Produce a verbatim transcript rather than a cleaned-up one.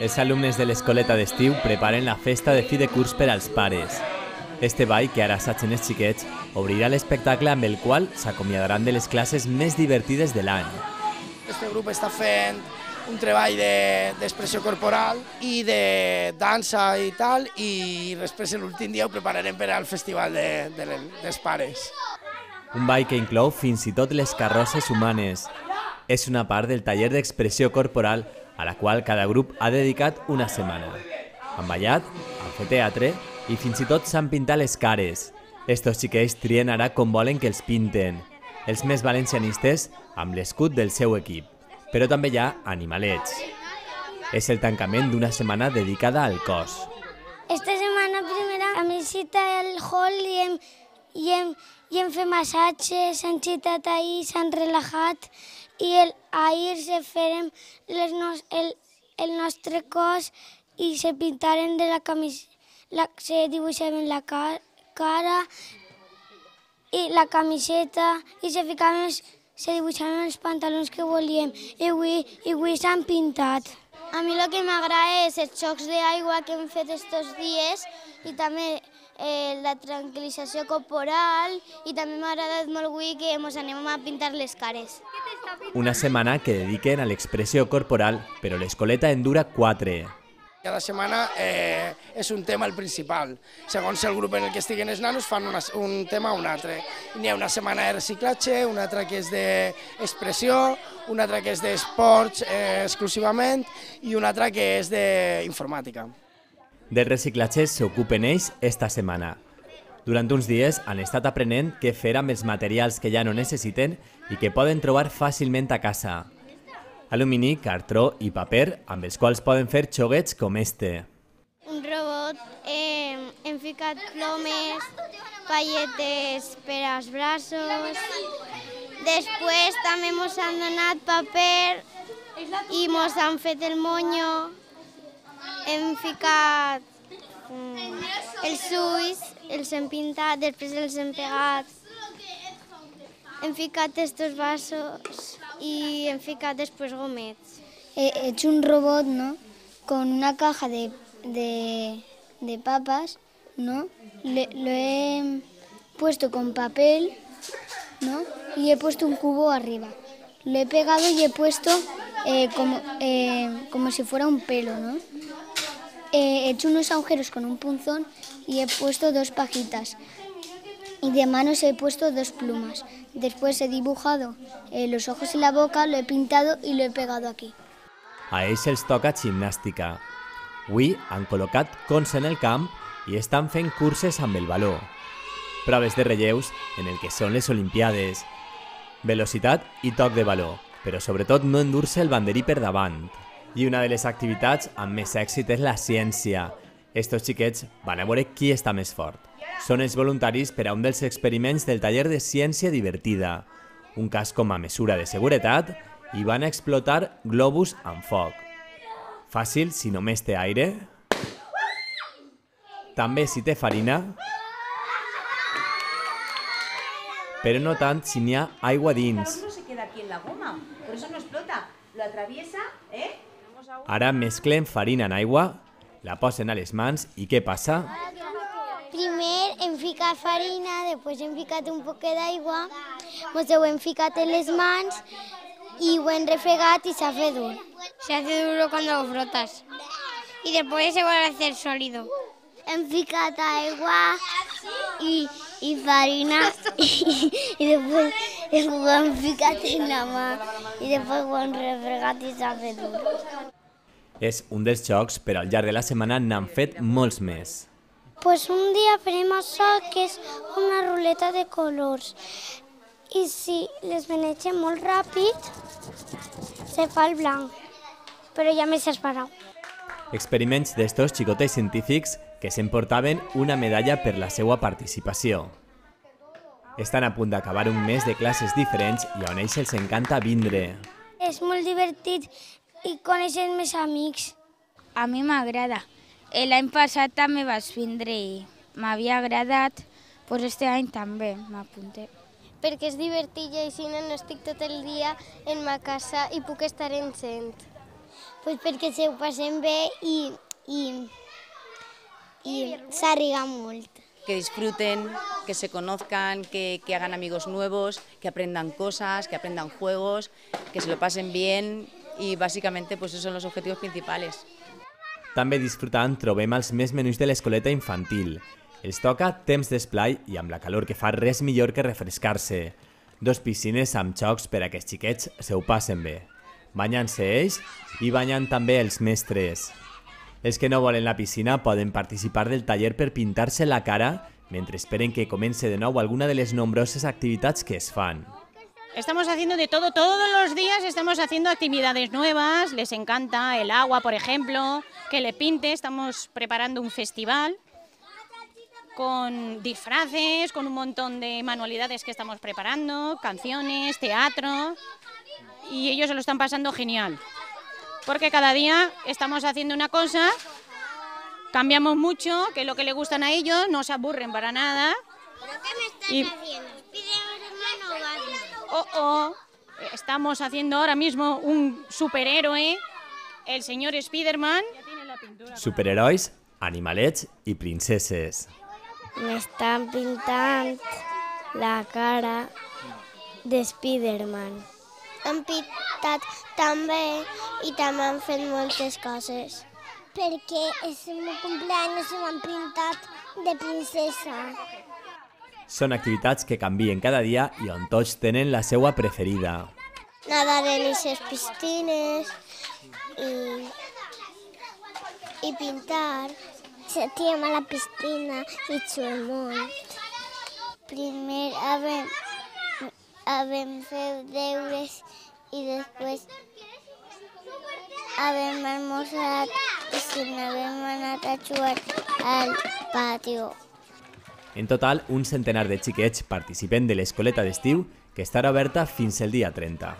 Els alumnes de l'escoleta d'estiu preparen la festa de fi de curs per als pares. Este ball, que ara assagen els xiquets, obrirà l'espectacle amb el qual s'acomiadaran de les classes més divertides de l'any. Este grup està fent un treball d'expressió corporal i de dansa i tal, i després l'últim dia ho prepararem per al festival de, de, dels pares. Un ball que inclou fins i tot les carrosses humanes. És una part del taller d'expressió corporal a la qual cada grup ha dedicat una setmana. Han ballat, han fet teatre i fins i tot s'han pintat les cares. Estos xiquets trien ara com volen que els pinten. Els més valencianistes amb l'escut del seu equip. Però també hi ha animalets. És el tancament d'una setmana dedicada al cos. Esta setmana primera hem visitat el hall i hem, i hem, i hem fet massatges, s'han citat ahir, s'han relaxat i el, ahir se farem les nos, el, el nostre cos i se pintaren de la camisa, la, se dibuixaven la ca, cara i la camiseta i se ficaven els, se dibuixaven els pantalons que volíem i avui, i avui s'han pintat. A mi el que m'agrada és els xocs d'aigua que hem fet estos dies i també eh, la tranquil·lització corporal i també m'ha agradat molt avui que ens anem a pintar les cares. Una setmana que dediquen a l'expressió corporal, però l'escoleta en dura quatre. Cada setmana eh, és un tema el principal. Segons el grup en el que estiguen els nanos fan una, un tema o un altre. N'hi ha una setmana de reciclatge, una altra que és d'expressió, una altra que és d'esports eh, exclusivament i una altra que és d'informàtica. Del reciclatge s'ocupen ells esta setmana. Durant uns dies han estat aprenent què fer amb els materials que ja no necessiten i que poden trobar fàcilment a casa. Alumini, cartró i paper, amb els quals poden fer xoguets com este. Un robot, eh, hem ficat plomes, palletes per als braços, després també ens han donat paper i ens han fet el monyo, hem ficat mm, els ulls, els hem pintat, després els hem pegat, hem ficat estos vasos y hem ficat después gomets. He hecho un robot, ¿no? Con una caja de, de, de papas, ¿no? Le, lo he puesto con papel, ¿no? Y he puesto un cubo arriba. Lo he pegado y he puesto eh, como, eh, como si fuera un pelo, ¿no? He hecho unos agujeros con un punzón y he puesto dos pajitas. Y de manos he puesto dos plumas. Después he dibujado eh, los ojos y la boca, lo he pintado y lo he pegado aquí. A ells els toca gimnàstica. Avui han col·locat cons en el camp i estan fent curses amb el baló. Proves de relleus en el que són les Olimpiades. Velocitat i toc de baló, però sobretot no endur-se el banderí per davant. I una de les activitats amb més èxit és la ciència. Estos xiquets van a veure qui està més fort. Són els voluntaris per a un dels experiments del taller de ciència divertida, un cas com a mesura de seguretat, i van a explotar globus amb foc. Fàcil si només té aire, també si té farina, però no tant si n'hi ha aigua dins. Ara mesclen farina en aigua, la posen a les mans i què passa? Primer hem ficat farina, després hem ficat un poc d'aigua, ens ho hem ficat en les mans y ho hem refregat y se hace duro. Se hace duro cuando lo frotas. Y después se vuelve a hacer sólido. Hem ficat aigua i, i farina i, i després ho hem ficat en la mà i després ho hem refregat i s'ha fet duro. És un dels jocs, però al llarg de la setmana n'han fet molts més. Pues un dia farem això, que és una ruleta de colors. I si les manegem molt ràpid, se fa el blanc. Però ja m'he esperat. Experiments d'estos xicotets científics que s'emportaven una medalla per la seva participació. Estan a punt d'acabar un mes de classes diferents i on ells els encanta vindre. És molt divertit i coneixen més amics. A mi m'agrada. L'any passat també vaig vindre i m'havia agradat, doncs este any també m'apunté. Perquè és divertit i així no estic tot el dia en ma casa i puc estar encent. Pues perquè se ho passen bé i, i, i s'arriga molt. Que disfruten, que se conozcan, que, que hagan amigos nuevos, que aprendan cosas, que aprendan juegos, que se lo pasen bien y básicamente pues esos son los objetivos principales. També disfrutant trobem els més menús de l'escoleta infantil. Els toca temps d'esplai i amb la calor que fa res millor que refrescar-se. Dos piscines amb xocs per a que els xiquets se ho passen bé. Banyant-se ells i banyant també els mestres. Els que no volen la piscina poden participar del taller per pintar-se la cara mentre esperen que comence de nou alguna de les nombroses activitats que es fan. Estamos haciendo de todo, todos los días estamos haciendo actividades nuevas, les encanta el agua, por ejemplo, que le pinte, estamos preparando un festival con disfraces, con un montón de manualidades que estamos preparando, canciones, teatro, y ellos se lo están pasando genial, porque cada día estamos haciendo una cosa, cambiamos mucho, que es lo que les gustan a ellos, no se aburren para nada. ¿Pero qué me estás y... haciendo? ¿Spiderman o Batman? Oh, oh, estamos haciendo ahora mismo un superhéroe, el señor Spiderman. Superherois, animalets i princeses. M'estan pintant la cara de Spiderman. Han pintat també i també han fet moltes coses. Perquè és el meu cumpleaños i m'han pintat de princesa. Són activitats que canvien cada dia i on tots tenen la seva preferida. Nadar en les piscines i, i pintar. Sentíem a la piscina i xuem molt. Primer havem, havem fet deures i després havem almorzat i si n'havem anat a jugar al patio. En total, un centenar de xiquets participen de l'escoleta d'estiu que estarà oberta fins el dia trenta.